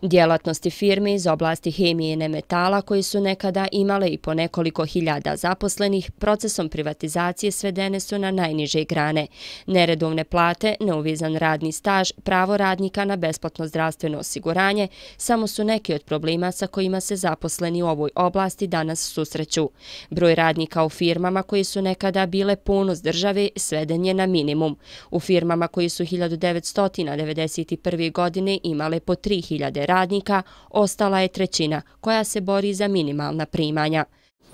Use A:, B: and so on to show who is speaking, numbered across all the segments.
A: Djelatnosti firme iz oblasti hemije i nemetala, koji su nekada imale i po nekoliko hiljada zaposlenih, procesom privatizacije svedene su na najniže grane. Neredovne plate, neuvizan radni staž, pravo radnika na besplatno zdravstveno osiguranje samo su neki od problema sa kojima se zaposleni u ovoj oblasti danas susreću. Broj radnika u firmama koji su nekada bile ponos države sveden je na minimum. U firmama koji su 1991. godine imale po 3000 radnika, ostala je trećina, koja se bori za minimalna primanja.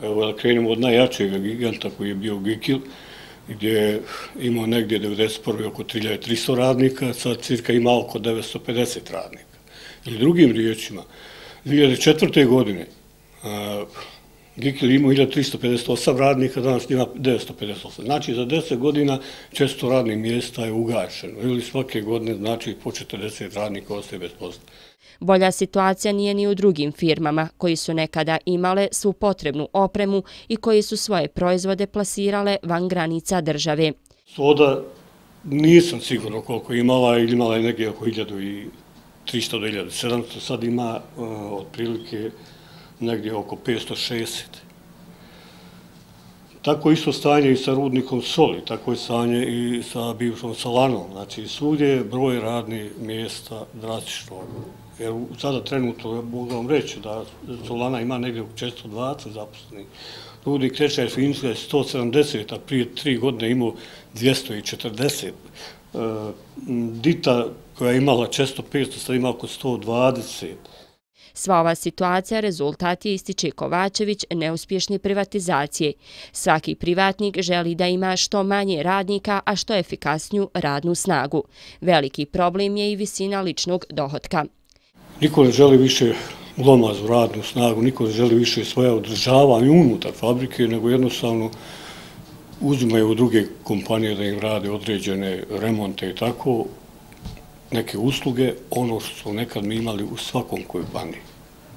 B: Evo da krenemo od najjačeg giganta koji je bio Gikil, gdje je imao negdje 1991. oko 3300 radnika, sad cirka ima oko 950 radnika. Ili drugim riječima, 2004. godine Gikil imao 1358 radnika, danas ima 958. Znači za 10 godina 400 radnih mjesta je ugašeno. Ili svake godine znači po 40 radnika ostaje bez posla.
A: Bolja situacija nije ni u drugim firmama koji su nekada imale svu potrebnu opremu i koji su svoje proizvode plasirale van granica države.
B: Soda nisam sigurno koliko imala je negdje oko 1300 do 1700, sad ima otprilike negdje oko 560. Tako isto stanje i sa rudnikom soli, tako je stanje i sa bivšom Solanom. Znači, svugdje je broj radnih mjesta drastično. Jer sada trenutno mogu vam reći da Solana ima negdje oko 420 zaposlenih. Rudnik Tečaj Finska je 170, a prije 3 godine imao 240. Dita koja je imala 400-500, sad ima oko 120.
A: Sva ova situacija rezultat je, ističe Kovačević, neuspješne privatizacije. Svaki privatnik želi da ima što manje radnika, a što efikasniju radnu snagu. Veliki problem je i visina ličnog dohotka.
B: Niko ne želi više glomaznu radnu snagu, niko ne želi više svoje održavanje unutar fabrike, nego jednostavno uzimaju druge kompanije da im rade određene remonte i tako, neke usluge, ono što su nekad mi imali u svakom kompaniji.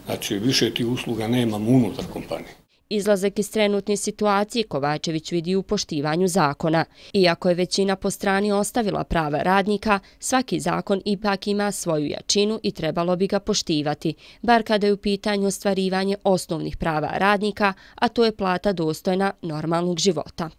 B: Znači, više tih usluga nemamo unutar kompanije.
A: Izlazak iz trenutne situacije Kovačević vidi u poštivanju zakona. Iako je većina po strani ostavila prava radnika, svaki zakon ipak ima svoju jačinu i trebalo bi ga poštivati, bar kada je u pitanju ostvarivanje osnovnih prava radnika, a to je plata dostojna normalnog života.